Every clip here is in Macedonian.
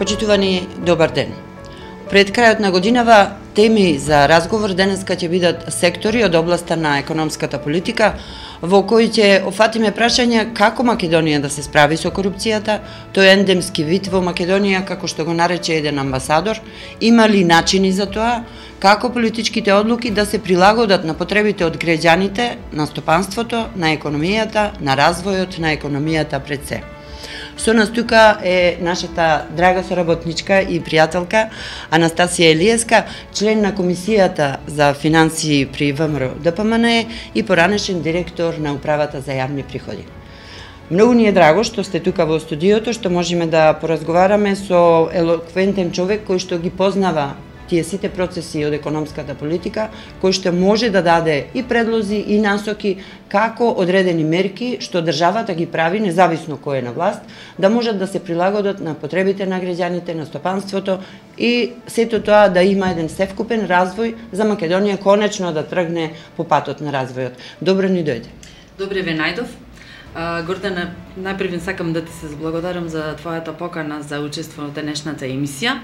Почитувани, добар ден. Пред крајот на годинава теми за разговор денеска ќе бидат сектори од областа на економската политика, во кои ќе офатиме прашања како Македонија да се справи со корупцијата, тој ендемски вид во Македонија, како што го нарече еден амбасадор, има ли начини за тоа, како политичките одлуки да се прилагодат на потребите од граѓаните, на стопанството, на економијата, на развојот на економијата пред се. Со нас тука е нашата драга соработничка и пријателка Анастасија Елиевска, член на Комисијата за финансии при ВМРО ДПМН и поранешен директор на Управата за јавни приходи. Многу ни е драго што сте тука во студиото, што можеме да поразговараме со елоквентен човек кој што ги познава тие сите процеси од економската политика, кој што може да даде и предлози и насоки како одредени мерки што државата ги прави, независно кој е на власт, да можат да се прилагодат на потребите на граѓаните, на стопанството и сето тоа да има еден севкупен развој за Македонија конечно да тргне по патот на развојот. Добро ни дојде. Добре ве најдов. Гордана, најпрв сакам да ти се благодарам за твојата покана за учество во денешната емисија.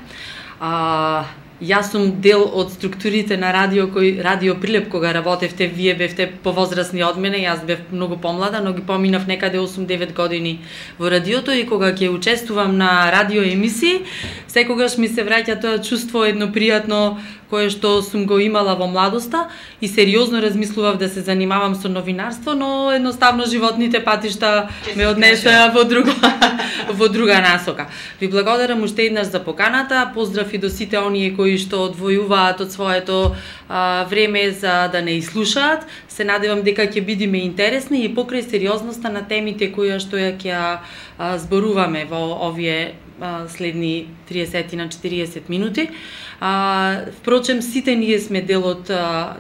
Јас сум дел од структурите на Радио Прилеп кога работевте, вие бевте повозрасни од мене, јас бев многу помлада, но ги поминав некаде 8-9 години во радиото и кога ќе учествувам на радио емисии, секогаш ми се враќа тоа чувство едно пријатно кое што сум го имала во младоста и сериозно размислував да се занимавам со новинарство, но едноставно животните патишта ме однесоа во друга насока. Ви благодарам уште еднаш за поканата, поздрав и до сите оние кои што одвојуваат од своето време за да не изслушаат. Се надевам дека ќе бидеме интересни и покрај сериозноста на темите кои што ќе зборуваме во овие следни 30 на 40 минути. Впрочем, сите ние сме дел од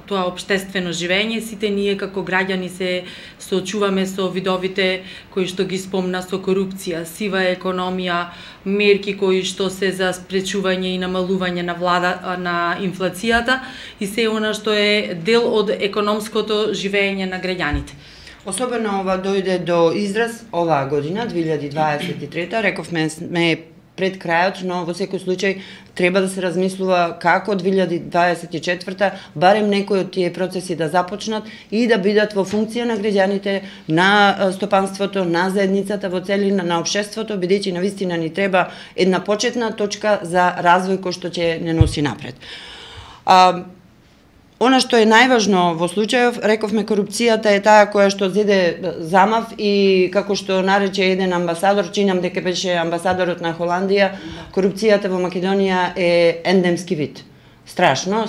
тоа општествено живење, сите ние како граѓани се соочуваме со видовите кои што ги спомна со корупција, сива економија, мерки кои што се за спречување и намалување на инфлацијата и се она што е дел од економското живење на граѓаните. Особено ова дојде до израз оваа година, 2023, рековме сме пред крајот, но во секој случај треба да се размислува како 2024 барем некои од тие процеси да започнат и да бидат во функција на граѓаните, на стопанството, на заедницата во целина, на општеството, бидејќи навистина ни треба една почетна точка за развој кој што ќе не носи напред. Она што е најважно во случајов, рековме, корупцијата е таа која што зеде замав и како што нарече еден амбасадор, чинам дека беше амбасадорот на Холандија, корупцијата во Македонија е ендемски вид. Страшна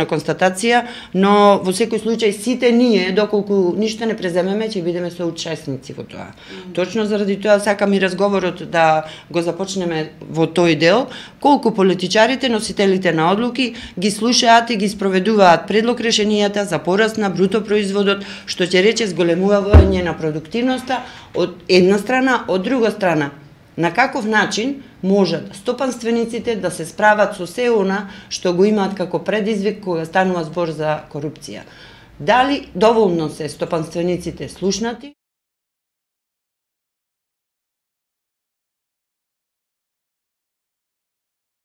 констатација, но во секој случај сите ние, доколку ништо не преземеме, ќе бидеме соучесници во тоа. Точно заради тоа сакам и разговорот да го започнеме во тој дел, колку политичарите, носителите на одлуки, ги слушаат и ги спроведуваат предлог решенијата за пораст на бруто производот, што ќе рече зголемување на продуктивноста од една страна, од друга страна. На каков начин можат стопанствениците да се справат со се она што го имаат како предизвик кога станува збор за корупција? Дали доволно се стопанствениците слушнати?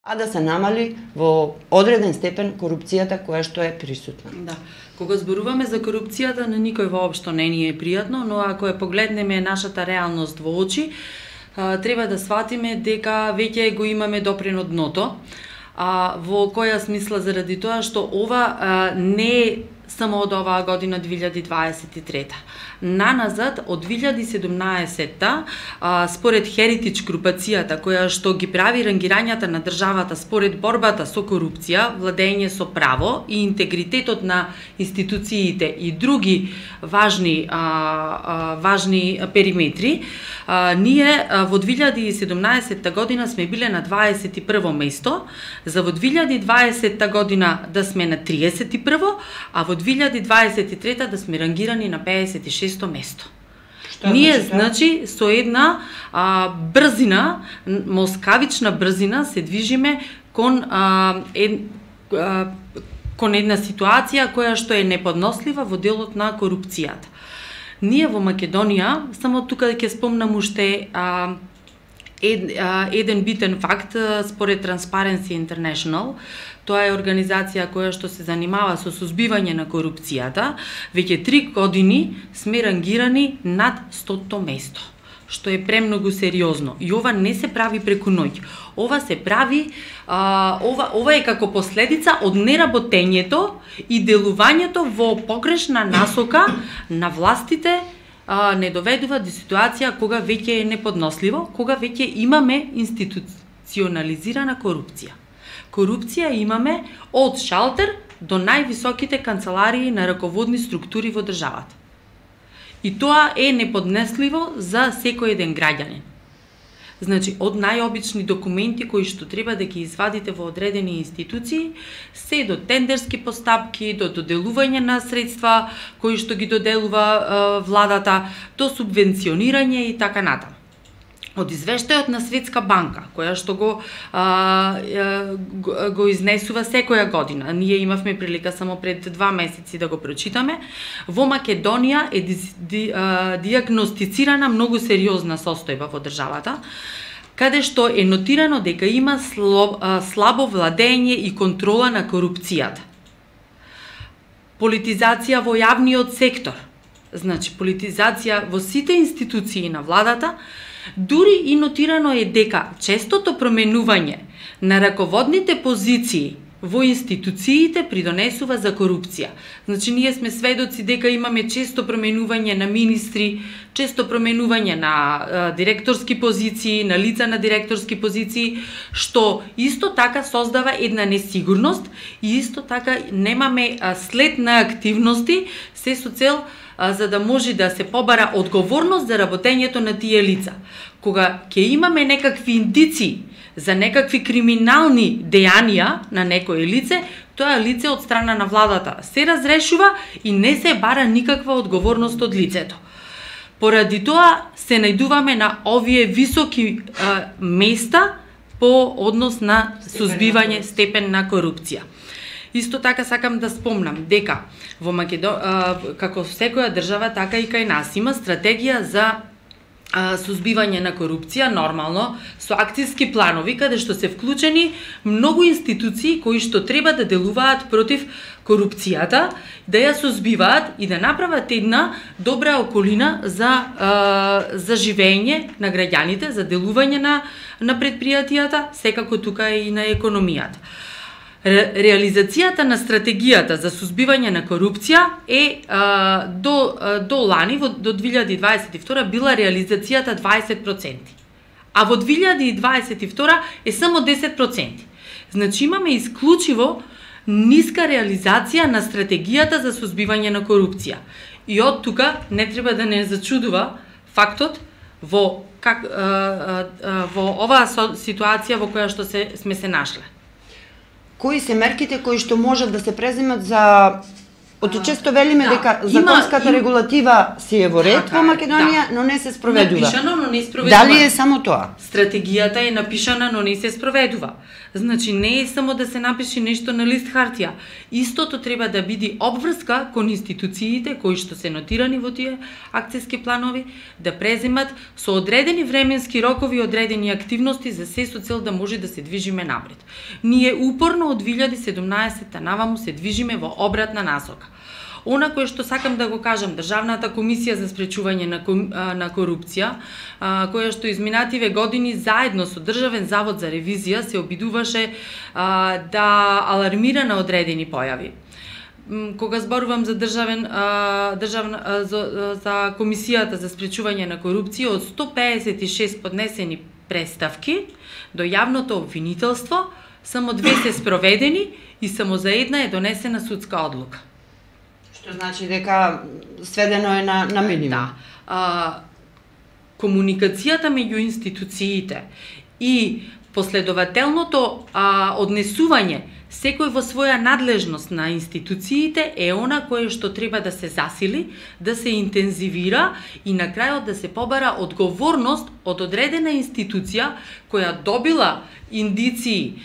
А да се намали во одреден степен корупцијата која што е присутна. Да. Кога зборуваме за корупцијата, на никој воопшто не ни е пријатно, но ако ја погледнеме нашата реалност во очи, треба да сватиме дека веќе го имаме допрен од дното. Во која смисла? Заради тоа што ова не е само од оваа година 2023. Наназад, од 2017-та, според Heritage групацијата, која што ги прави рангирањата на државата според борбата со корупција, владење со право и интегритетот на институциите и други важни периметри, ние во 2017 година сме биле на 21 место, за во 2020 година да сме на 31, а во 2023 да сме рангирани на 56 место. Ние, значи, со една брзина, москавична брзина се движиме кон една ситуација која што е неподнослива во делот на корупцијата. Ние во Македонија, само тука ќе спомнам уште еден битен факт според Transparency International. Тоа е организација која што се занимава со сузбивање на корупцијата. Веќе 3 години сме рангирани над 100-то место, што е премногу сериозно. И ова не се прави преку ноќ. Ова се прави, ова е како последица од неработењето и делувањето во погрешна насока на властите. Не доведува до ситуација кога веќе е неподносливо, кога веќе имаме институционализирана корупција. Корупција имаме од шалтер до највисоките канцеларии на раководни структури во државата. И тоа е неподнесливо за секој еден граѓанин. Значи, од најобични документи кои што треба да ги извадите во одредени институции, се до тендерски постапки, до доделување на средства кои што ги доделува владата, до субвенционирање и така натаму. Од извештајот на Светска банка, која што го изнесува секоја година, ние имавме прилика само пред 2 месеци да го прочитаме, во Македонија е диагностицирана многу сериозна состојба во државата, каде што е нотирано дека има слабо владење и контрола на корупцијата. Политизација во јавниот сектор, значи политизација во сите институции на владата. Дури и нотирано е дека честото променување на раководните позиции во институциите придонесува за корупција. Значи, ние сме сведоци дека имаме често променување на министри, често променување на директорски позиции, на лица на директорски позиции, што исто така создава една несигурност и исто така немаме след на активности, се со цел за да може да се побара одговорност за работењето на тие лица. Кога ќе имаме некакви индици за некакви криминални дејанија на некое лице, тоа лице од страна на владата се разрешува и не се бара никаква одговорност од лицето. Поради тоа се најдуваме на овие високи места по однос на сузбивање степен на корупција. Исто така сакам да спомнам дека во како секоја држава, така и кај нас има стратегија за сузбивање на корупција, нормално, со акцијски планови, каде што се вклучени многу институции кои што треба да делуваат против корупцијата, да ја сузбиваат и да направат една добра околина за живење на граѓаните, за делување на предпријатијата, секако тука и на економијата. Реализацијата на стратегијата за сузбивање на корупција е до лани, до 2022 била реализацијата 20%, а во 2022 е само 10%. Значи имаме исклучиво ниска реализација на стратегијата за сузбивање на корупција. И од тука не треба да не зачудува фактот во оваа ситуација во која што сме се нашле. Кои се мерките кои што можат да се преземат за... Често велиме дека законската регулатива си е во ред во Македонија, но не се спроведува. Напишано, но не спроведува. Дали е само тоа? Стратегијата е напишана, но не се спроведува. Значи, не е само да се напише нешто на лист хартија. Истото треба да биде обврска кон институциите кои што се нотирани во тие акцијски планови, да преземат со одредени временски рокови, одредени активности за се со цел да може да се движиме напред. Ние упорно од 2017 наваму се движиме во обратна насока. Она кое што сакам да го кажам, Државната комисија за спречување на корупција, која што изминативе години заедно со Државен завод за ревизија се обидуваше да алармира на одредени појави. Кога зборувам за за комисијата за спречување на корупција, од 156 поднесени представки до јавното обвинителство, само 2 се спроведени и само за една е донесена судска одлука. Што значи дека сведено е на минимум. Да. Комуникацијата меѓу институциите и последователното однесување секој во своја надлежност на институциите е она кое што треба да се засили, да се интензивира и на крајот да се побара одговорност од одредена институција која добила индиции,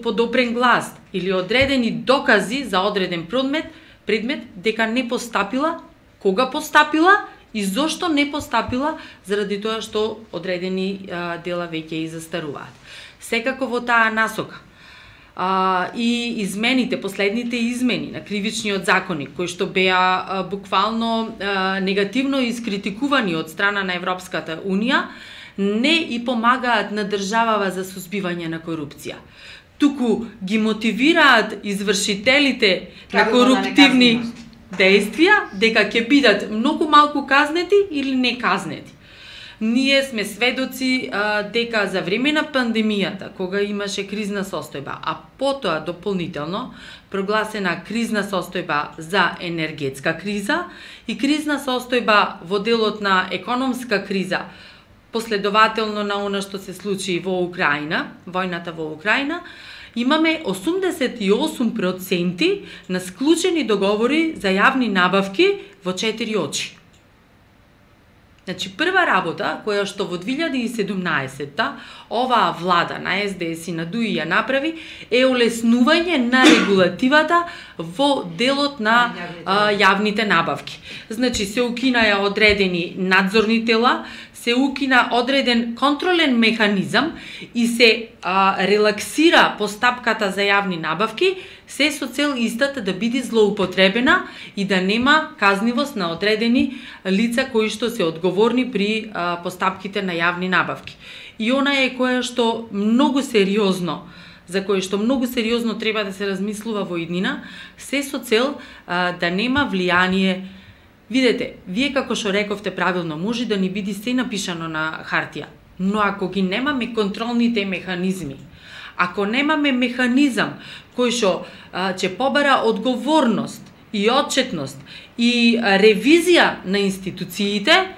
подобрен глас или одредени докази за одреден предмет дека не постапила, кога постапила и зошто не постапила, заради тоа што одредени дела веќе и застаруваат. Секако во таа насока и измените, последните измени на кривичниот законник, кои што беа буквално негативно искритикувани од страна на Европската Унија, не и помагаат на државава за сузбивање на корупција. Туку ги мотивираат извршителите на коруптивни действија дека ќе бидат многу малку казнети или не казнети. Ние сме сведоци дека за време на пандемијата, кога имаше кризна состојба, а потоа дополнително прогласена кризна состојба за енергетска криза и кризна состојба во делот на економска криза, последователно на она што се случи во Украина, војната во Украина, имаме 88% на склучени договори за јавни набавки во 4 очи. Значи, прва работа, која што во 2017-та оваа влада на СДС и на ДУИ ја направи, е олеснување на регулативата во делот на јавните набавки. Значи, се укинаја одредени надзорни тела, се укина одреден контролен механизам и се релаксира постапката за јавни набавки, се со цел истата да биде злоупотребена и да нема казнивост на одредени лица кои што се одговорни при постапките на јавни набавки. И она е која што многу сериозно, за кој што многу сериозно треба да се размислува во иднина, се со цел да нема влијание. Видете, вие како што рековте правилно, може да ни биде се напишано на хартија, но ако ги немаме контролните механизми, ако немаме механизам кој што ќе побара одговорност и отчетност и ревизија на институциите,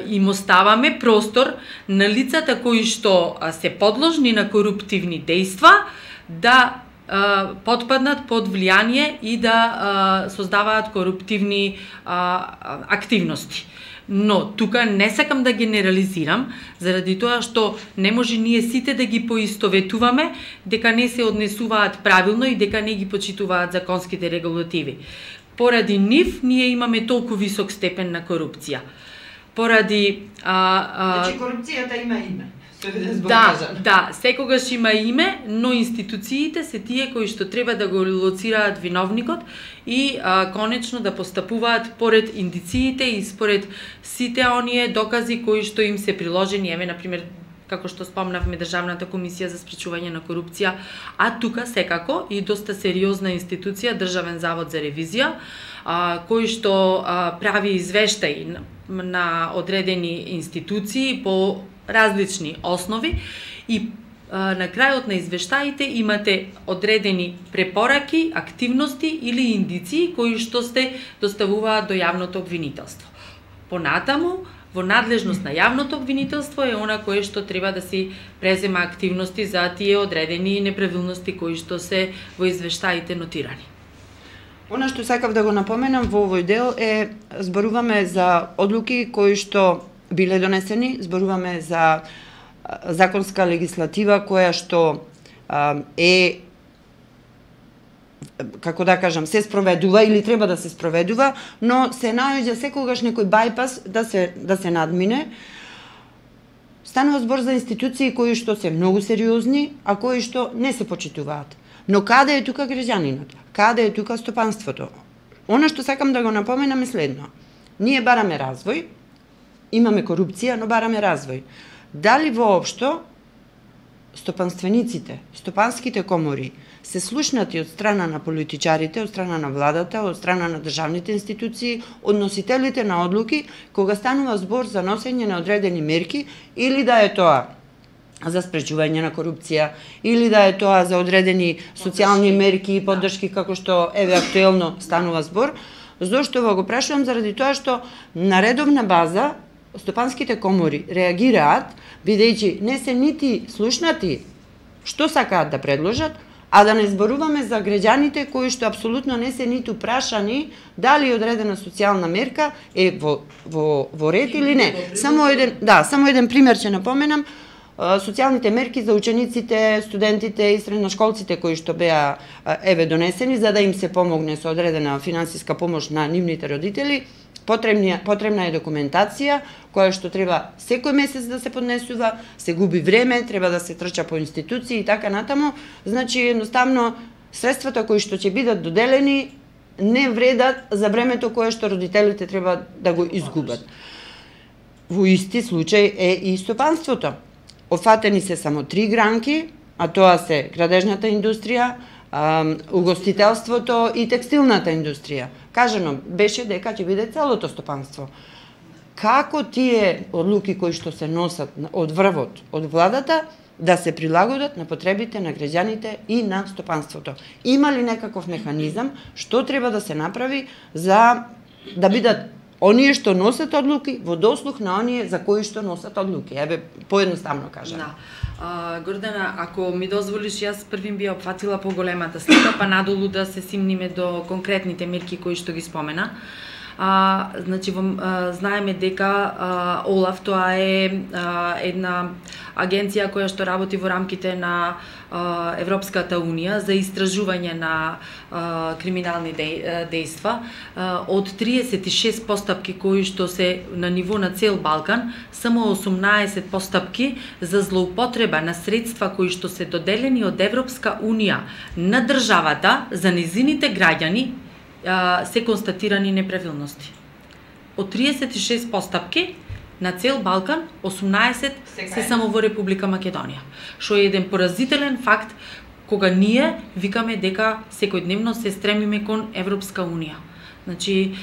им оставаме простор на лицата кои што се подложни на коруптивни дејства да потпаднат под влијание и да создаваат коруптивни активности. Но тука не сакам да генерализирам, заради тоа што не може ние сите да ги поистоветуваме дека не се однесуваат правилно и дека не ги почитуваат законските регулативи. Поради нив ние имаме толку висок степен на корупција. Поради Значи корупцијата има име. Да, секогаш има име, но институциите се тие кои што треба да го лоцираат виновникот и конечно да постапуваат поред индициите и според сите оние докази кои што им се приложени, еве например како што спомнавме Државната комисија за спречување на корупција, а тука секако и доста сериозна институција Државен завод за ревизија, кој што прави извештаи на одредени институции по различни основи и на крајот на извештаите имате одредени препораки, активности или индиции кои што се доставуваат до јавното обвинителство. Понатаму, во надлежност на јавното обвинителство е она кое што треба да си презема активности за тие одредени неправилности кои што се во извештаите нотирани. Она што сакав да го напоменам во овој дел е зборуваме за одлуки кои што биле донесени, зборуваме за законска легислатива која што е, како да кажам, се спроведува или треба да се спроведува, но се наоѓа секогаш некој бајпас да се надмине. Станува збор за институции кои што се многу сериозни, а кои што не се почитуваат. Но каде е тука граѓанинот? Каде е тука стопанството? Она што сакам да го напоменам е следно. Ние бараме развој, имаме корупција, но бараме развој. Дали воопшто стопанствениците, стопанските комори се слушнати од страна на политичарите, од страна на владата, од страна на државните институции, од носителите на одлуки, кога станува збор за носење на одредени мерки, или да е тоа за спречување на корупција, или да е тоа за одредени социјални мерки и поддршки, како што еве актуелно станува збор. Зошто го прашувам? Заради тоа што на редовна база стопанските комори реагираат, бидејќи не се нити слушнати што сакаат да предложат, а да не зборуваме за граѓаните кои што апсолутно не се ниту прашани дали одредена социјална мерка е во ред или не. Само еден пример ќе напоменам. Социјалните мерки за учениците, студентите и средношколците кои што беа еве донесени за да им се помогне со одредена финансиска помош на нивните родители, потребна е документација, која што треба секој месец да се поднесува, се губи време, треба да се трча по институции и така натаму. Значи, едноставно, средствата кои што ќе бидат доделени не вредат за времето кое што родителите треба да го изгубат. Во исти случај е и стопанството. Офатени се само 3 гранки, а тоа се градежната индустрија, угостителството и текстилната индустрија. Кажано беше дека ќе биде целото стопанство. Како тие одлуки кои што се носат од врвот, од владата, да се прилагодат на потребите на граѓаните и на стопанството? Има ли некаков механизам што треба да се направи за да бидат оние што носат одлуки во дослух на оние за кои што носат одлуки? Еве, поедноставно кажам. Да. Гордана, ако ми дозволиш, јас првим би опфатила поголемата слика, па надолу да се симниме до конкретните мерки кои што ги спомена. Значи, знаеме дека ОЛАФ тоа е една агенција која што работи во рамките на Европската Унија за истражување на криминални дејства. Од 36 постапки кои што се на ниво на цел Балкан, само 18 постапки за злоупотреба на средства кои што се доделени од Европска Унија на државата за незините граѓани се констатирани неправилности. Од 36 постапки на цел Балкан, 18 се само во Република Македонија. Што е еден поразителен факт кога ние викаме дека секојдневно се стремиме кон Европска Унија. Значи,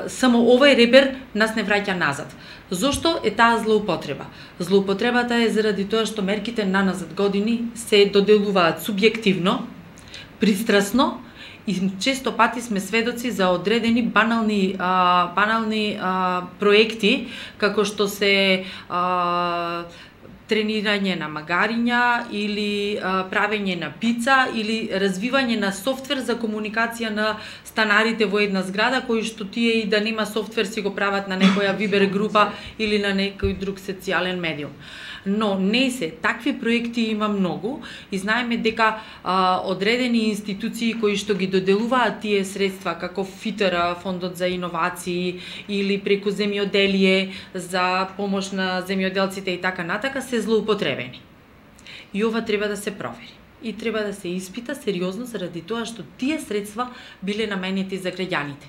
само овој репер нас не враќа назад. Зошто е таа злоупотреба? Злоупотребата е заради тоа што мерките на назад години се доделуваат субјективно, пристрасно, и често пати сме сведоци за одредени банални проекти, како што се тренирање на магариња или правење на пица или развивање на софтвер за комуникација на станарите во една зграда, кои што тие и да нема софтвер си го прават на некоја Вибер група или на некој друг социјален медиум. Но не се, такви проекти има многу и знаеме дека одредени институции кои што ги доделуваат тие средства, како ФИТР, Фондот за иновации или преку земјоделие за помош на земјоделците и така натака, се злоупотребени. И ова треба да се провери. И треба да се испита сериозно заради тоа што тие средства биле наменети за граѓаните.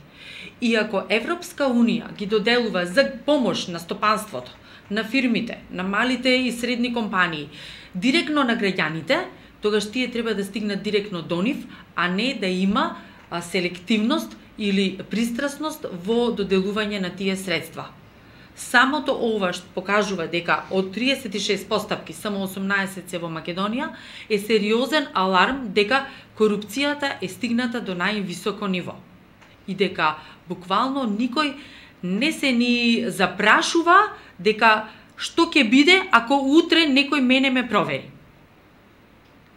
И ако Европска Унија ги доделува за помош на стопанството, на фирмите, на малите и средни компании, директно на граѓаните, тогаш тие треба да стигнат директно до нив, а не да има селективност или пристрасност во доделување на тие средства. Самото ова што покажува дека од 36 постапки само 18 се во Македонија е сериозен аларм дека корупцијата е стигната до највисоко ниво и дека буквално никој не се ни запрашува дека што ќе биде ако утре некој мене ме провери.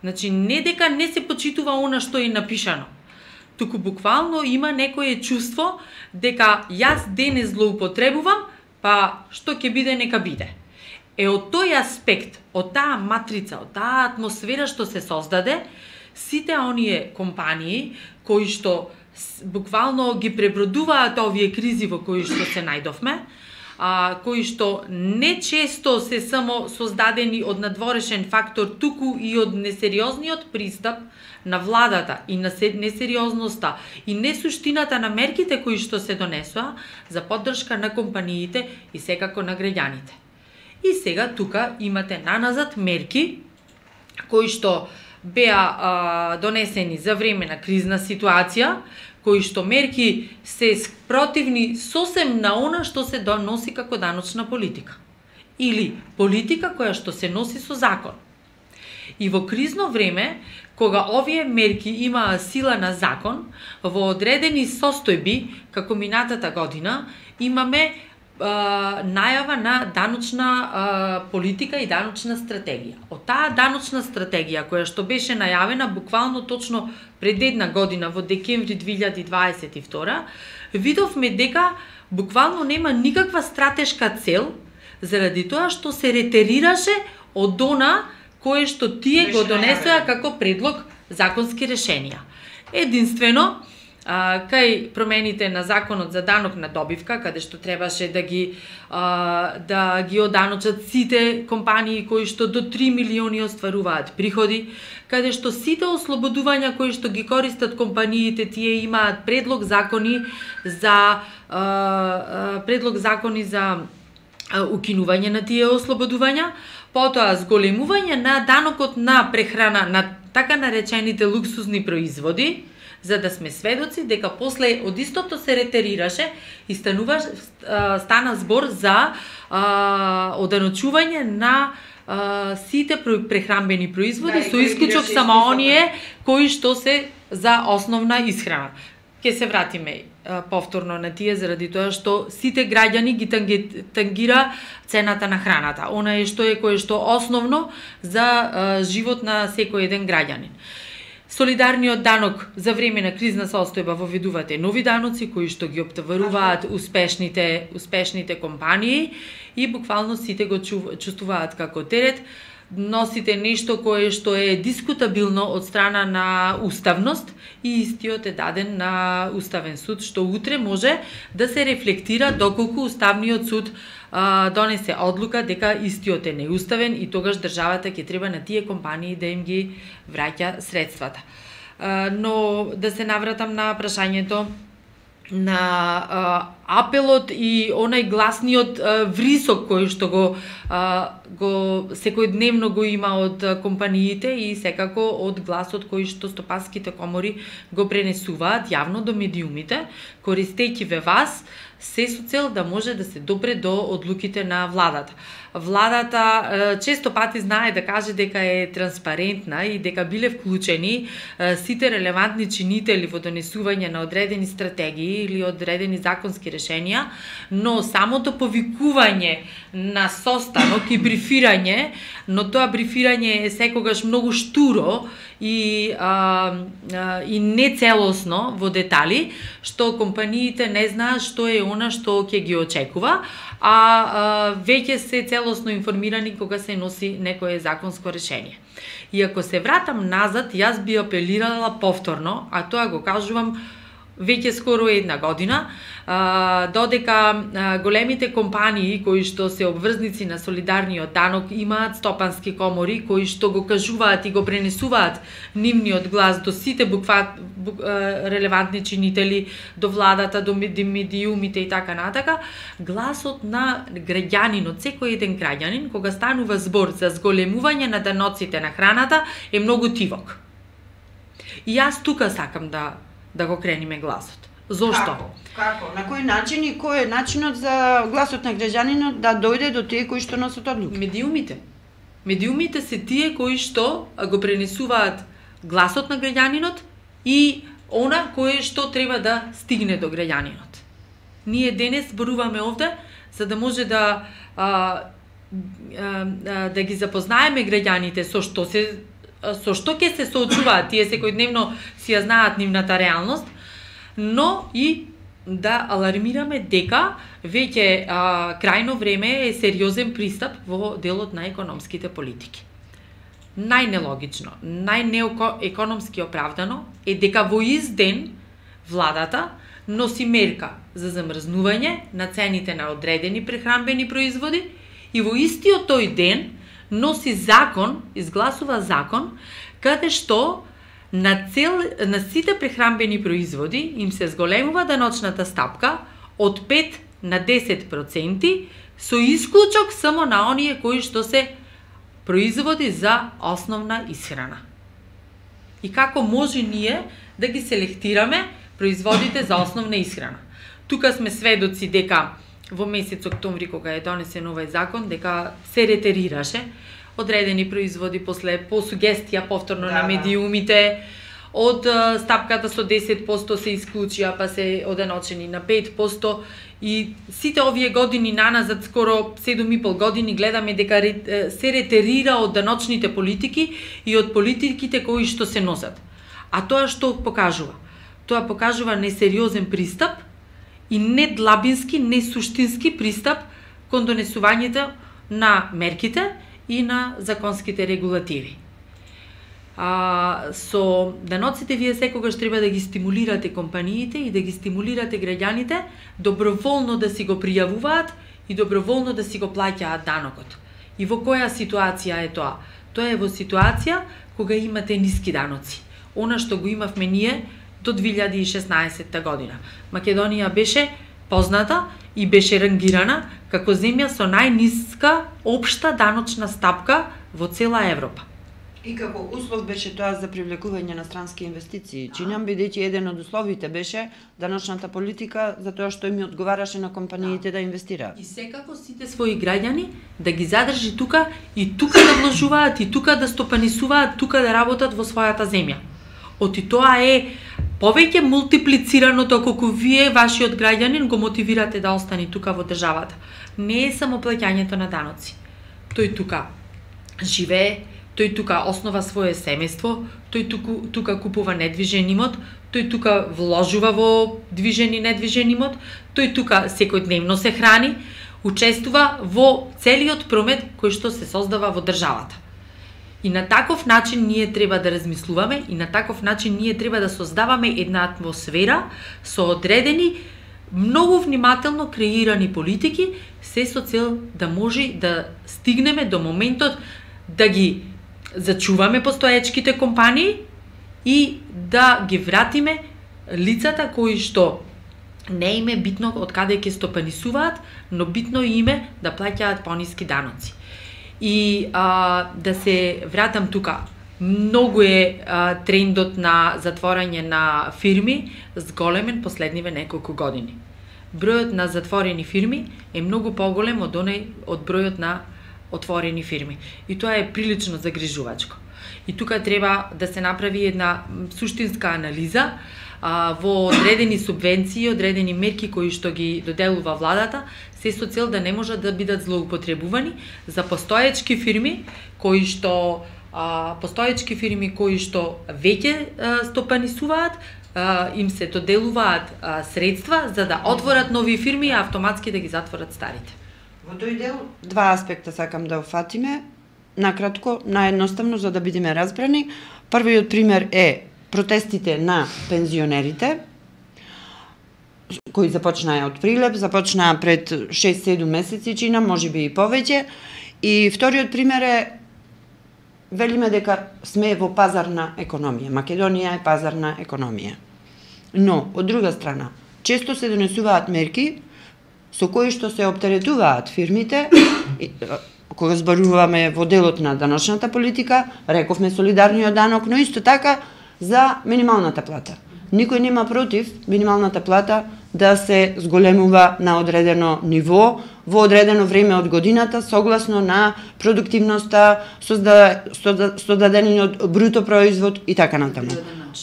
Значи, не дека не се почитува она што е напишано, туку буквално има некое чувство дека јас денес злоупотребувам, па што ќе биде, нека биде. Од тој аспект, од таа матрица, од таа атмосфера што се создаде, сите оние компании кои што буквално ги пребродуваат овие кризи во кои што се најдовме, кои што не често се само создадени од надворешен фактор, туку и од несериозниот пристап на владата и на несериозноста и несуштината на мерките кои што се донесоа за поддршка на компаниите и секако на граѓаните. И сега тука имате наназад мерки кои што беа донесени за време на кризна ситуација, кои што мерки се противни сосем на она што се доноси како даночна политика. Или политика која што се носи со закон. И во кризно време, кога овие мерки имаа сила на закон, во одредени состојби, како минатата година, имаме најава на даночна политика и даночна стратегија. Од таа даночна стратегија, која што беше најавена буквално точно пред една година, во декември 2022, видовме дека буквално нема никаква стратешка цел, заради тоа што се ретерираше од она кое што тие го донесоа како предлог законски решенија. Единствено, кај промените на законот за данок на добивка, каде што требаше да ги оданочат сите компании кои што до 3 милиони остваруваат приходи, каде што сите ослободувања кои што ги користат компаниите, тие имаат предлог закони за укинување на тие ослободувања, потоа зголемување на данокот на прехрана на така наречените луксузни производи, за да сме сведоци дека после од истото се ретерираше и стана збор за оданочување на сите прехранбени производи, со исклучок само оние кои што се за основна исхрана. Ке се вратиме повторно на тие, заради тоа што сите граѓани ги тангира цената на храната. Она е што е кое што основно за живот на секој еден граѓанин. Солидарниот данок за време на кризна состојба воведувате нови даноци кои што ги оптоваруваат успешните компании и буквално сите го чувствуваат како терет. Носите нешто кое што е дискутабилно од страна на уставност и истиот е даден на Уставен суд, што утре може да се рефлектира доколку Уставниот суд донесе одлука дека истиот е неуставен и тогаш државата ќе треба на тие компании да им ги враќа средствата. Но да се навратам на прашањето на апелот и онај гласниот врисок кој што го секојдневно го има од компаниите и секако од гласот кој што стопанските комори го пренесуваат јавно до медиумите, користејќи ве вас, се со цел да може да се допре до одлуките на владата. Владата често пати знае да каже дека е транспарентна и дека биле вклучени сите релевантни чинители во донесување на одредени стратегии или одредени законски решенија, но самото повикување на состанок и брифирање, но тоа брифирање е секогаш многу штуро и нецелосно во детали, што компаниите не знаат што е она што ќе ги очекува, веќе се целосно информирани кога се носи некое законско решение. И ако се вратам назад, јас би апелирала повторно, а тоа го кажувам веќе скоро една година, додека големите компании кои што се обврзници на солидарниот данок имаат стопански комори кои што го кажуваат и го пренесуваат нивниот глас до сите релевантни чинители, до владата, до медиумите и така натака, гласот на граѓанинот, секој еден граѓанин, кога станува збор за зголемување на даноците на храната, е многу тивок. И јас тука сакам да го крениме гласот. Зошто? Како? На кој начин и кој е начинот за гласот на граѓанинот да дојде до тие кои што носат одлуки? Медиумите. Медиумите се тие кои што го пренесуваат гласот на граѓанинот и она кое што треба да стигне до граѓанинот. Ние денес зборуваме овде за да може да ги запознаеме граѓаните со што ќе се соочуваат, тие секојдневно си ја знаат нивната реалност, но и да алармираме дека веќе крајно време е сериозен пристап во делот на економските политики. Најнелогично, најнеекономски оправдано е дека во ист ден владата носи мерка за замрзнување на цените на одредени прехранбени производи и во истиот тој ден носи закон, изгласува закон, каде што на сите прехранбени производи им се зголемува даночната стапка од 5 на 10% со исклучок само на оние кои што се производи за основна исхрана. И како може ние да ги селектираме производите за основна исхрана? Тука сме сведоци дека во месец октомври, кога е донесен овој закон, дека се ретерираше одредени производи по сугестија повторно на медиумите, од стапката со 10% се исклучија, па се оданочени на 5%, и сите овие години наназад, скоро 7,5 години, гледаме дека се ретерира од даночните политики и од политиките кои што се носат. А тоа што покажува? Тоа покажува несериозен пристап и недлабински, несуштински пристап кон донесувањето на мерките и на законските регулативи. Со даноците вие секогаш треба да ги стимулирате компаниите и да ги стимулирате граѓаните доброволно да си го пријавуваат и доброволно да си го плаќаат данокот. И во која ситуација е тоа? Тоа е во ситуација кога имате ниски даноци. Она што го имавме ние до 2016 година. Македонија беше позната и беше рангирана како земја со најниска општа даночна стапка во цела Европа. И како услов беше тоа за привлекување на странски инвестиции. Чинам бидејќи еден од условите беше даночната политика за тоа што им одговараше на компаниите да инвестираат. И секако сите своји граѓани да ги задржи тука и тука да вложуваат и тука да стопанисуваат, тука да работат во својата земја. Оти тоа е повеќе мултиплицирано колку вие вашиот граѓанин го мотивирате да остане тука во државата. Не е само плаќањето на даноци. Тој тука живее, тој тука основа свое семејство, тој тука купува недвижен имот, тој тука вложува во движен и недвижен имот, тој тука секојдневно се храни, учествува во целиот промет кој што се создава во државата. И на таков начин ние треба да размислуваме и на таков начин ние треба да создаваме една атмосфера со одредени, многу внимателно креирани политики, се со цел да може да стигнеме до моментот да ги зачуваме постоечките компании и да ги вратиме лицата кои што не им е битно од каде ќе стопанисуваат, но битно им е да плаќаат пониски даноци. И да се вратам тука, многу е трендот на затворање на фирми зголемен последниве неколку години. Бројот на затворени фирми е многу поголем од бројот на отворени фирми. И тоа е прилично загрижувачко. И тука треба да се направи една суштинска анализа во одредени субвенции, одредени мерки кои што ги доделува владата, се со цел да не можат да бидат злоупотребувани за постоечки фирми кои што веќе стопанисуваат, им се доделуваат средства за да отворат нови фирми и автоматски да ги затворат старите. Во тој дел два аспекта сакам да офатиме, накратко, наедноставно за да бидеме разбрани. Првиот пример е протестите на пензионерите, кои започнаа од прилеп, започнаа пред 6-7 месеци чина, можеби и повеќе. И вториот пример е, велиме дека сме во пазарна економија. Македонија е пазарна економија. Но, од друга страна, често се донесуваат мерки со кои што се оптеретуваат фирмите, кога зборуваме во делот на даночната политика, рековме солидарниот данок, но исто така за минималната плата. Никој нема против минималната плата да се зголемува на одредено ниво, во одредено време од годината, согласно на продуктивноста, создадениот бруто производ и така натаму.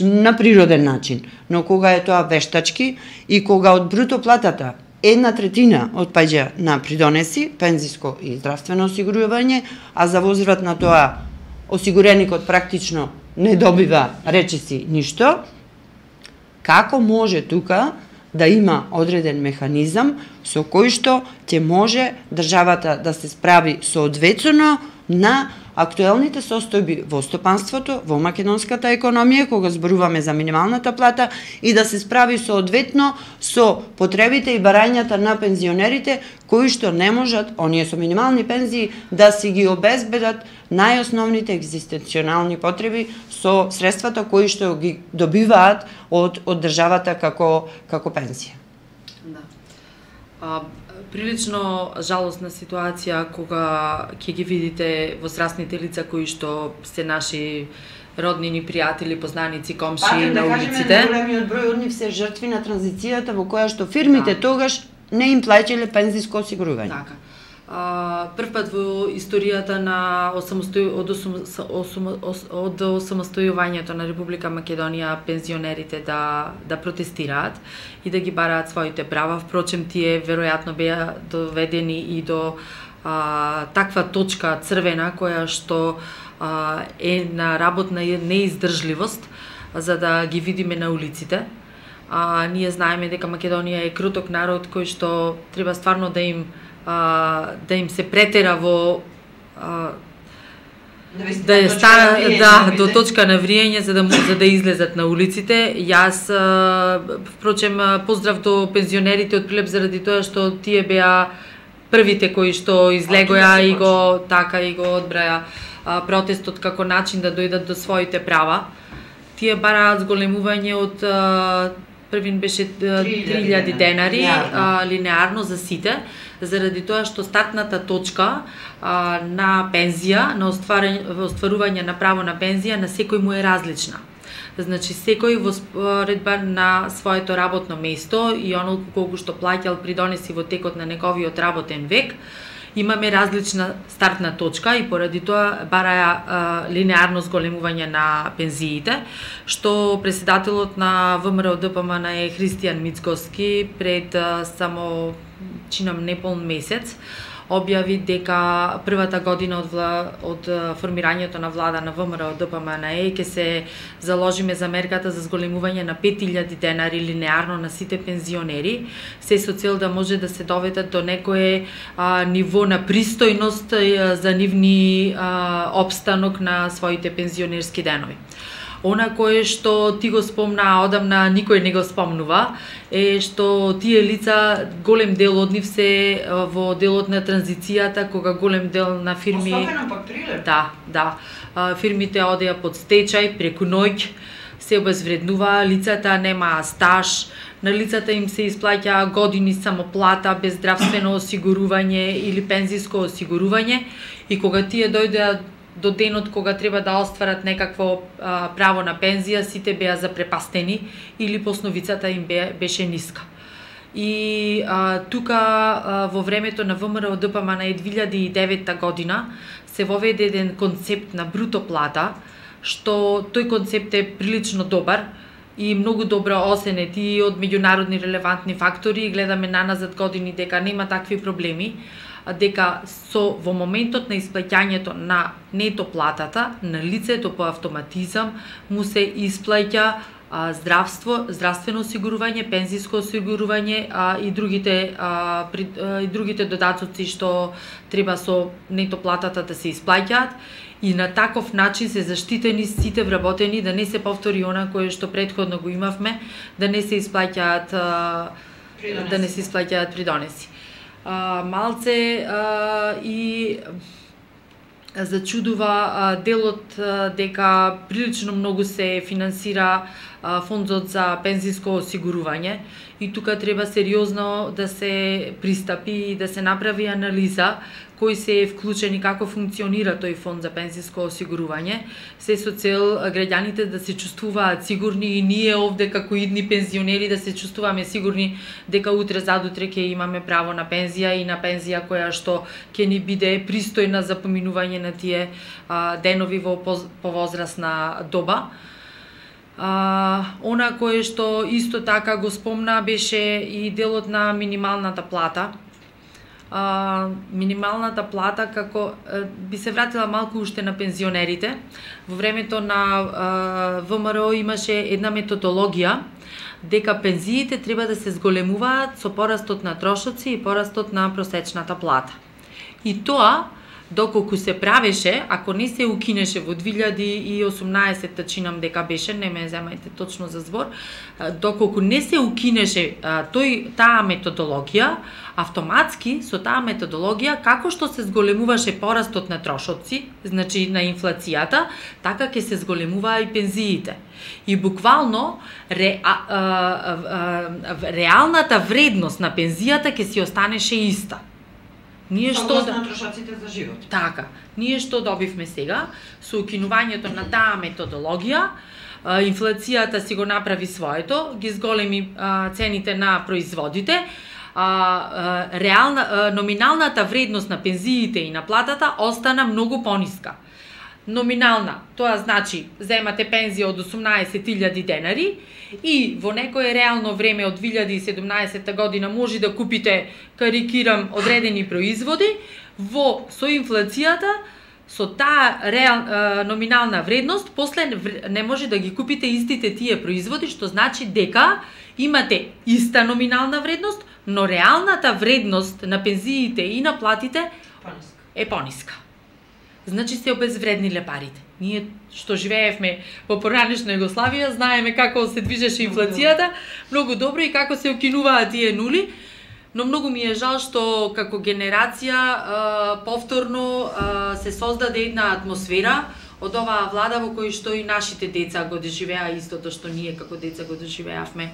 На природен начин. Но кога е тоа вештачки и кога од бруто платата 1/3 отпаѓа на придонеси, пензиско и здравствено осигурување, а за возврат на тоа осигуреникот практично не добива речиси ништо, како може тука да има одреден механизам со кој што ќе може државата да се справи соодветно на актуелните состојби во стопанството, во македонската економија, кога зборуваме за минималната плата, и да се справи соодветно со потребите и барањата на пензионерите, кои што не можат, оние со минимални пензии, да си ги обезбедат најосновните екзистенционални потреби со средствата кои што ги добиваат од државата како пензија. Да. Прилично жалосна ситуација кога ќе ги видите возрастните лица кои што се наши роднини, пријатели, познаници, комши на улиците. Големиот број од нив се жртви на транзицијата во која што фирмите тогаш не им плаќале пензиско осигурување. Така. Прв пат во историјата на од осамостојувањето на Република Македонија пензионерите да протестираат и да ги бараат своите права. Впрочем, тие веројатно беа доведени и до таква точка црвена која што е на работна неиздржливост за да ги видиме на улиците. Ние знаеме дека Македонија е круток народ кој што треба стварно да им се претера во да стана до точка на вриење за да излезат на улиците. Јас впрочем поздрав до пензионерите од Прилеп заради тоа што тие беа првите кои што излегоа и го одбраја протестот како начин да дојдат до своите права. Тие бараат зголемување од првин беше 3000 денари линеарно за сите, заради тоа што стартната точка на пензија, на остварување на право на пензија на секој му е различна. Значи секој во споредба на своето работно место и оноliko колку што плаќал придонеси во текот на неговиот работен век, имаме различна стартна точка и поради тоа бараја линеарно зголемување на пензиите, што председателот на ВМРО ДПМН е Христијан Мицкоски пред само чинам неполн месец објави дека првата година од формирањето на влада на ВМРО ДПМН ќе се заложиме за мерката за зголемување на 5000 денари линеарно на сите пензионери, се со цел да може да се доведат до некое ниво на пристојност за нивни опстанок на своите пензионерски денови. Она кое што ти го спомна одамна никој не го спомнува е што тие лица, голем дел од нив се во делот на транзицијата, кога голем дел на фирми... Особено пак Прилеп. Да. Фирмите одеа под стечај, преку ноќ, се обезвреднува, лицата немаа стаж, на лицата им се исплаќа години само плата, без здравствено осигурување или пензиско осигурување и кога тие дојдеа до денот кога треба да остварат некакво право на пензија, сите беа запрепастени или посновицата им беше ниска. И тука во времето на ВМРО ДПМН 2009 година се воведе еден концепт на бруто плата, што тој концепт е прилично добар и многу добро осенет и од меѓународни релевантни фактори. Гледаме наназад години дека нема такви проблеми, дека во моментот на исплаќањето на нето платата на лицето по автоматизам му се исплаќа здравствено осигурување, пензиско осигурување и другите додатоци што треба со нето платата да се исплаќаат и на таков начин се заштитени сите вработени да не се повтори она кое што претходно го имавме, да не се исплаќаат придонеси. Малце и зачудува делот дека прилично многу се финансира фондот за пензиско осигурување и тука треба сериозно да се пристапи и да се направи анализа кои се е вклучени, како функционира тој фонд за пензиско осигурување, се со цел граѓаните да се чувствуваат сигурни и ние овде како идни пензионери да се чувствуваме сигурни дека утре задутре ќе имаме право на пензија и на пензија која што ќе ни биде пристојна за поминување на тие денови во повозрасна доба. Она кое што исто така го спомна беше и делот на минималната плата. Минималната плата како би се вратила малку уште на пензионерите. Во времето на ВМРО имаше една методологија дека пензиите треба да се зголемуваат со порастот на трошоци и порастот на просечната плата. И тоа доколку се правеше, ако не се укинеше во 2018 чинам дека беше, не ме земајте точно за збор, доколку не се укинеше таа методологија, автоматски со таа методологија, како што се зголемуваше порастот на трошоци, значи на инфлацијата, така ќе се зголемуваа и пензиите. И буквално реалната вредност на пензијата ќе си останеше иста. Ние што на трошоците за живот. Така, ние што добивме сега со укинувањето на таа методологија, инфлацијата си го направи своето, ги зголеми цените на производите, номиналната вредност на пензиите и на платата остана многу пониска. Номинална, тоа значи земате пензија од 18.000 денари и во некое реално време од 2017 година може да купите, карикирам, одредени производи, со инфлацијата, со таа номинална вредност, после не може да ги купите истите тие производи, што значи дека имате иста номинална вредност, но реалната вредност на пензиите и на платите е пониска. значи се обезвредниле парите. Ние што живеевме во поранешна Југославија, знаеме како се движеше инфлацијата, многу добро и како се окинуваа тие нули, но многу ми е жал што како генерација повторно се создаде една атмосфера од оваа влада во кој што и нашите деца го доживеа истото што ние како деца го доживеавме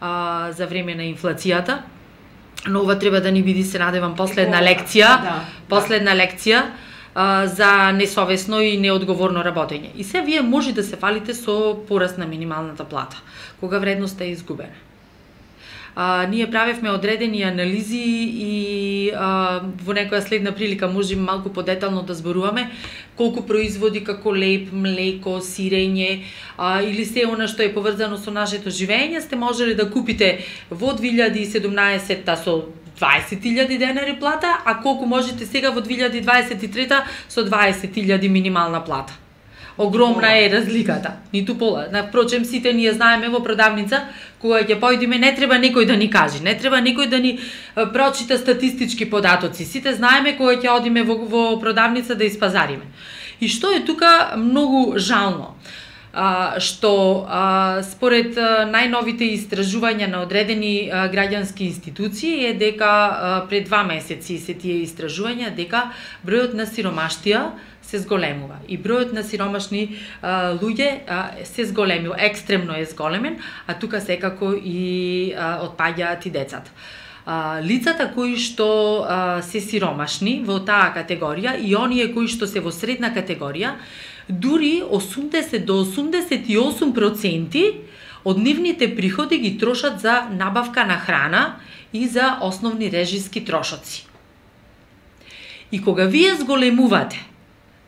за време на инфлацијата. Но ова треба да ни биде, се надевам, последна лекција за несовесно и неодговорно работење. И се вие може да се фалите со пораст на минималната плата, кога вредноста е изгубена. Ние правевме одредени анализи и во некоја следна прилика можеме малку подетално да зборуваме колку производи како леб, млеко, сирење или се она што е поврзано со нашето живење сте можеле да купите во 2017 со 20.000 денари плата, а колку можете сега во 2023 со 20.000 минимална плата. Огромна е разликата, ниту пола. Напрочем, сите ние знаеме во продавница, кога ќе појдеме, не треба некој да ни каже, не треба некој да ни прочита статистички податоци. Сите знаеме кога ќе одиме во продавница да испазариме. И што е тука многу жално? Што според најновите истражувања на одредени граѓански институции е дека пред 2 месеци се тие истражувања дека бројот на сиромаштија се зголемува и бројот на сиромашни луѓе се зголемува, екстремно е зголемен, а тука секако и отпаѓаат и децата. Лицата кои што се сиромашни во таа категорија и оние кои што се во средна категорија, дури 80 до 88% од нивните приходи ги трошат за набавка на храна и за основни режиски трошоци. И кога вие зголемувате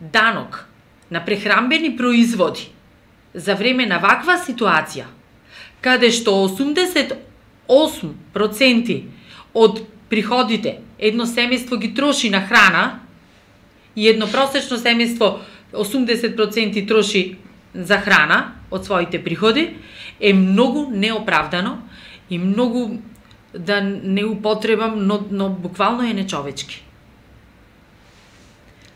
данок на прехранбени производи за време на ваква ситуација, каде што 88% од приходите едно семејство ги троши на храна и едно просечно семејство 80% троши за храна од своите приходи, е многу неоправдано и многу, да не употребам, но буквално е нечовечки.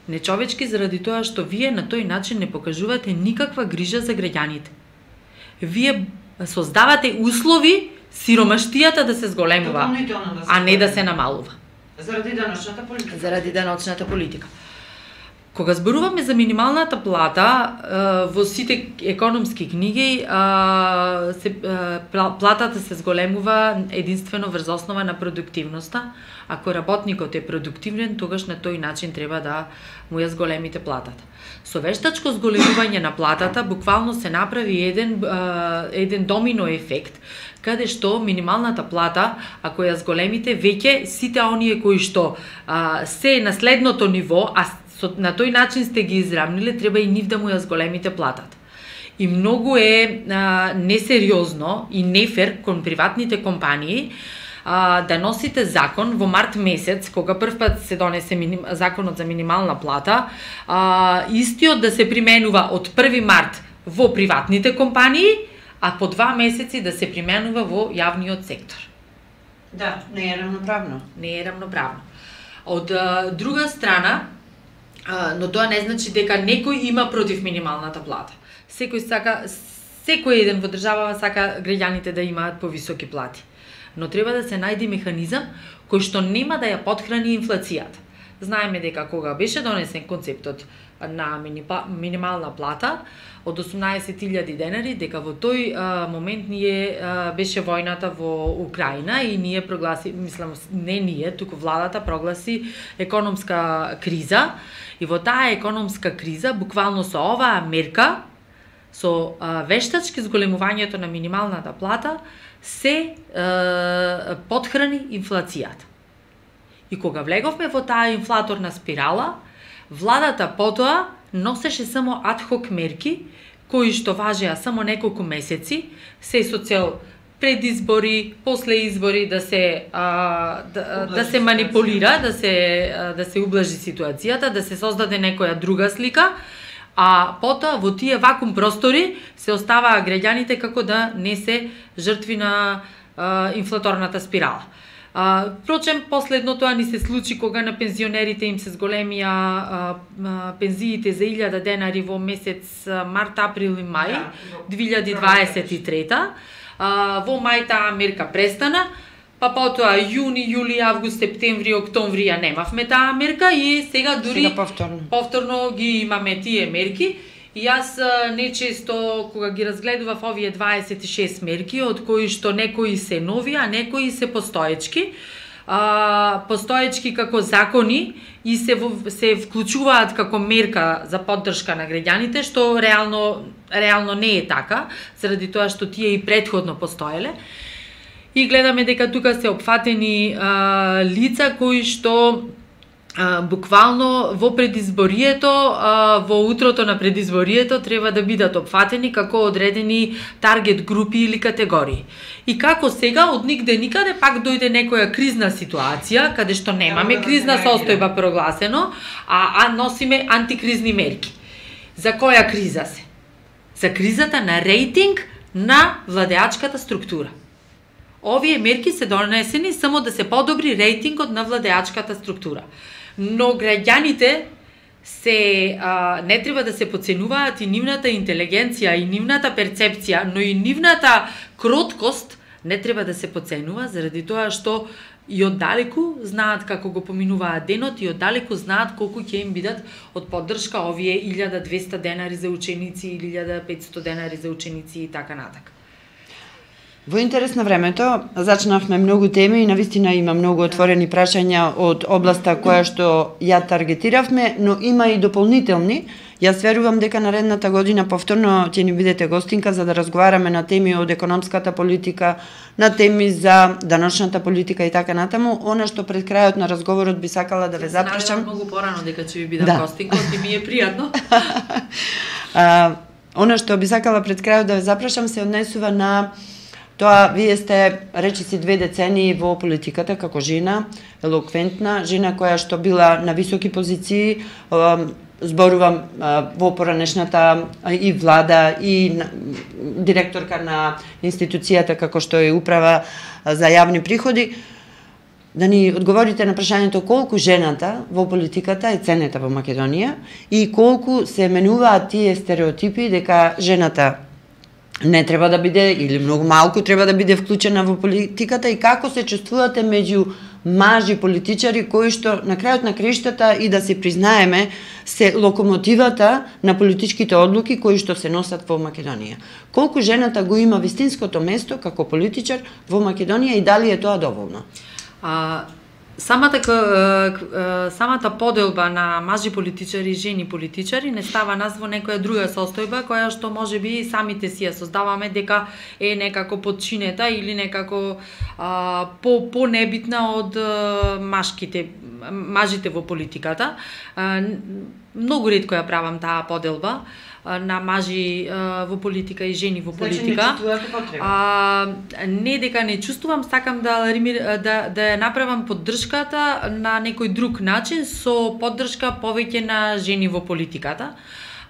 Нечовечки заради тоа што вие на тој начин не покажувате никаква грижа за граѓаните. Вие создавате услови сиромаштијата да се зголемува, а не да се намалува. Заради даночната политика. Кога зборуваме за минималната плата, во сите економски книги платата се зголемува единствено врз основа на продуктивноста. Ако работникот е продуктивен, тогаш на тој начин треба да му ја зголемите платата. Со вештачко зголемување на платата буквално се направи еден домино ефект, каде што минималната плата, ако ја зголемите, веќе сите оние кои што се на следното ниво, а на тој начин сте ги изравниле, треба и нив да му ја зголемите платата. И многу е несериозно и нефер кон приватните компании да носите закон во март месец, кога првпат се донесе законот за минимална плата, истиот да се применува од 1 март во приватните компании, а по 2 месеци да се применува во јавниот сектор. Да, не е равноправно. Не е равноправно. Од друга страна, но тоа не значи дека некој има против минималната плата. Секој еден во државава сака граѓаните да имаат повисоки плати. Но треба да се најде механизам кој што нема да ја потхрани инфлацијата. Знаеме дека кога беше донесен концептот на минимална плата од 18.000 денари, дека во тој момент беше војната во Украина и ние туку владата прогласи економска криза. И во таа економска криза, буквално со оваа мерка, со вештачки зголемувањето на минималната плата, се потхрани инфлацијата. И кога влеговме во таа инфлаторна спирала, владата потоа носеше само адхок мерки, кои што важеа само неколку месеци, се со цел пред избори, после избори да се манипулира, да се ублажи ситуацијата, да се создаде некоја друга слика, а потоа во тие вакуум простори се оставаа граѓаните како да не се жртви на инфлаторната спирала. Впрочем, последно тоа ни се случи кога на пензионерите им се зголемија пензиите за 1000 денари во месец март, април и мај 2023. Во мај таа мерка престана, па потоа јуни, јули, август, септември, октомври ја немавме таа мерка и сега дури повторно ги имаме тие мерки. И јас нечесто кога ги разгледував овие 26 мерки, од кои што некои се нови, а некои се постоечки, постоечки како закони и се вклучуваат како мерка за поддршка на граѓаните, што реално не е така, заради тоа што тие и претходно постоеле. И гледаме дека тука се опфатени лица кои што буквално во предизборието, во утрото на предизборието треба да бидат опфатени како одредени таргет групи или категории. И како сега од нигде никаде пак дојде некоја кризна ситуација каде што немаме кризна состојба прогласено, а носиме антикризни мерки. За која криза се? За кризата на рейтинг на владеачката структура. Овие мерки се донесени само да се подобри рейтингот на владеачката структура. Но граѓаните не треба да се подценуваат и нивната интелигенција, и нивната перцепција, но и нивната кроткост не треба да се подценува, заради тоа што и оддалеку знаат како го поминуваат денот и оддалеку знаат колку ќе им бидат од поддршка овие 1200 денари за ученици или 1500 денари за ученици и така натака. Во интерес на времето, зачнавме многу теми и навистина има многу отворени прашања од областа која што ја таргетиравме, но има и дополнителни. Јас верувам дека наредната година повторно ќе ни бидете гостинка за да разговараме на теми од економската политика, на теми за даночната политика и така натаму. Она што пред крајот на разговорот би сакала да ве запрашам. Многу порано дека ќе ви бидам гостинка, и ми е пријатно. Она што би сакала пред крајот да ве запрашам се однесува на тоа, вие сте речиси 2 децении во политиката како жена, елоквентна, жена која што била на високи позиции, зборувам во поранешната и влада и директорка на институцијата како што е управа за јавни приходи. Да ни одговорите на прашањето колку жената во политиката е ценета во Македонија и колку се менуваат тие стереотипи дека жената не треба да биде или многу малку треба да биде вклучена во политиката и како се чувствувате меѓу мажи политичари кои што на крајот на краиштата и да се признаеме се локомотивата на политичките одлуки кои што се носат во Македонија. Колку жената го има вистинското место како политичар во Македонија и дали е тоа доволно? Самата поделба на мажи политичари и жени политичари не става нас во некоја друга состојба која што можеби самите си ја создаваме дека е некако подчинета или некако по-небитна од мажите во политиката. Многу ретко ја правам таа поделба на мажи во политика и жени во политика. Не дека не чувствувам, сакам да ја направам поддршката на некој друг начин со поддршка повеќе на жени во политиката.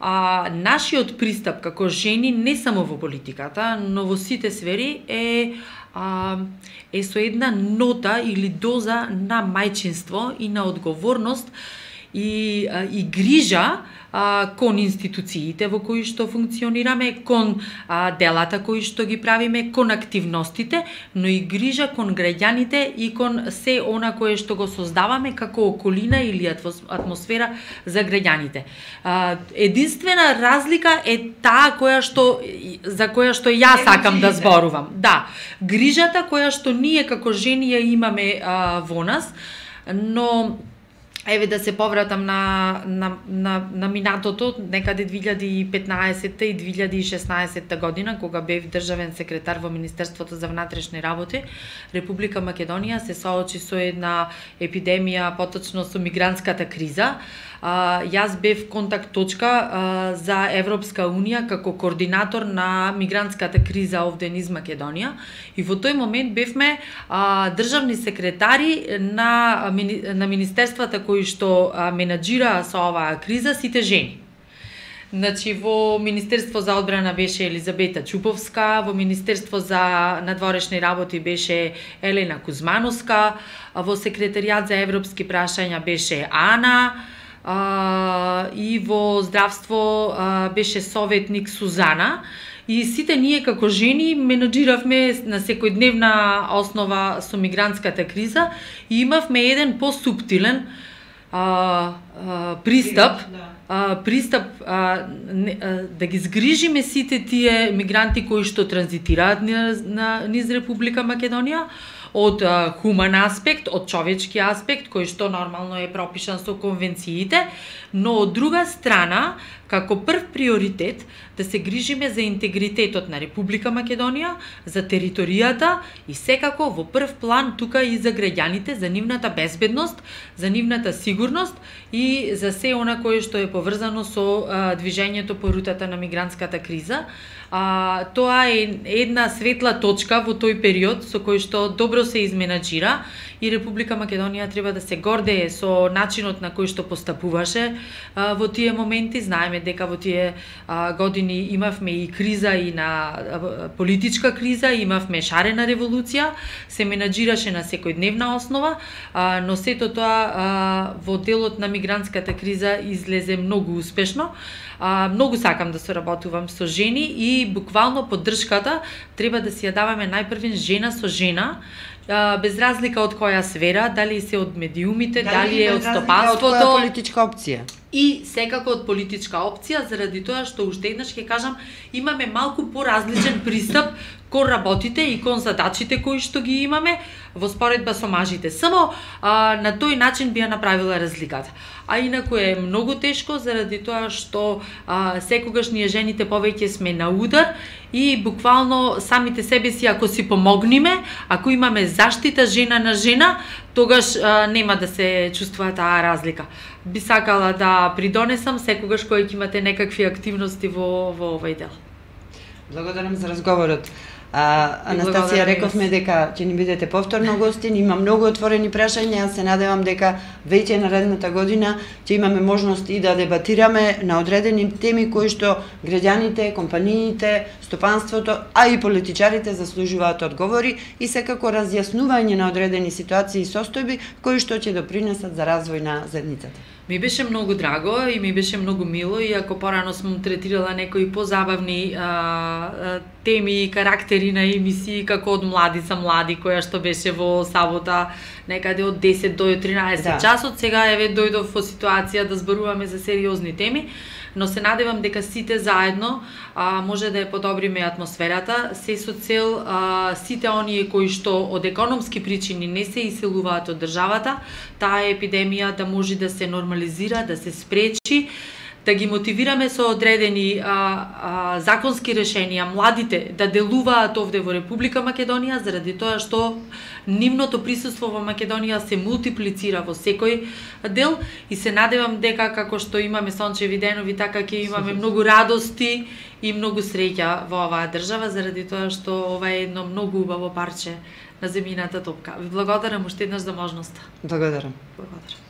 Нашиот пристап како жени не само во политиката, но во сите сфери е со една нота или доза на мајчинство и на одговорност и грижа кон институциите во кои што функционираме, кон делата кои што ги правиме, кон активностите, но и грижа кон граѓаните и кон се она кое што го создаваме како околина или атмосфера за граѓаните. Единствена разлика е таа за која што јас сакам да зборувам. Да, грижата која што ние како жени ја имаме во нас, но еве да се повратам на минатото, некаде 2015 и 2016 година, кога бев државен секретар во Министерството за внатрешни работи, Република Македонија се соочи со една епидемија, поточно со мигрантската криза. Јас бев контакт точка за Европска Унија како координатор на мигрантската криза овде низ Македонија и во тој момент бевме државни секретари на министерствата кои што менаџираа со оваа криза сите жени. Значи, во Министерство за одбрана беше Елизабета Чуповска, во Министерство за надворешни работи беше Елена Кузмановска, во Секретаријат за европски прашања беше Ана, и во здравство беше советник Сузана. И сите ние како жени менаџиравме на секојдневна основа со мигрантската криза и имавме еден посуптилен пристап да ги згрижиме сите тие мигранти кои што транзитираат низ Република Македонија, од хуман аспект, од човечки аспект, кој што нормално е пропишан со конвенциите, но од друга страна, како прв приоритет, да се грижиме за интегритетот на Република Македонија, за територијата и секако во прв план тука и за граѓаните, за нивната безбедност, за нивната сигурност и за се она кое што е поврзано со движењето по рутата на мигрантската криза. Тоа е една светла точка во тој период со кој што добро се изменаџира и Република Македонија треба да се гордее со начинот на кој што постапуваше во тие моменти. Знаеме дека во тие години имавме и криза и на политичка криза, имавме шарена револуција, се менаџираше на секојдневна основа, но сето тоа во делот на мигрантската криза излезе многу успешно. Многу сакам да соработувам со жени и буквално поддршката треба да си ја даваме најпрвен жена со жена, без разлика од која сфера, дали се од медиумите, дали е од стопанството, од која политичка опција. И секако од политичка опција, заради тоа што уште еднаш ќе кажам, имаме малку поразличен пристап кон работите и кон задачите кои што ги имаме во споредба со мажите. Само на тој начин би ја направила разликата. А инаку е многу тешко заради тоа што секогаш ние жените повеќе сме на удар и буквално самите себе си ако си помогниме, ако имаме заштита жена на жена, тогаш нема да се чувствува таа разлика. Би сакала да придонесам секогаш кога ќе имате некакви активности во овој дел. Благодарам за разговорот. Анастасија, рековме дека ќе ни бидете повторно гостин, има многу отворени прашања, се надевам дека веќе наредната година ќе имаме можност и да дебатираме на одредени теми кои што граѓаните, компаниите, стопанството, а и политичарите заслужуваат одговори и секако разјаснување на одредени ситуации и состојби кои што ќе допринесат за развој на заедницата. Ми беше многу драго и ми беше многу мило, иако порано сум третирала некои позабавни теми и карактери на емисии, како од Млади за млади, која што беше во сабота некаде од 10 до 13 часот. Сега еве дојдов во ситуација да зборуваме за сериозни теми, но се надевам дека сите заедно може да ја подобриме атмосферата, се со цел сите оние кои што од економски причини не се иселуваат од државата, таа епидемија да може да се нормализира, да се спречи, да ги мотивираме со одредени законски решенија младите да делуваат овде во Република Македонија, заради тоа што нивното присуство во Македонија се мултиплицира во секој дел и се надевам дека како што имаме сончеви денови, така ќе имаме многу радости и многу среќа во оваа држава, заради тоа што ова е едно многу убаво парче на земјината топка. Ви благодарам уште еднаш за можноста. Благодарам. Благодарам.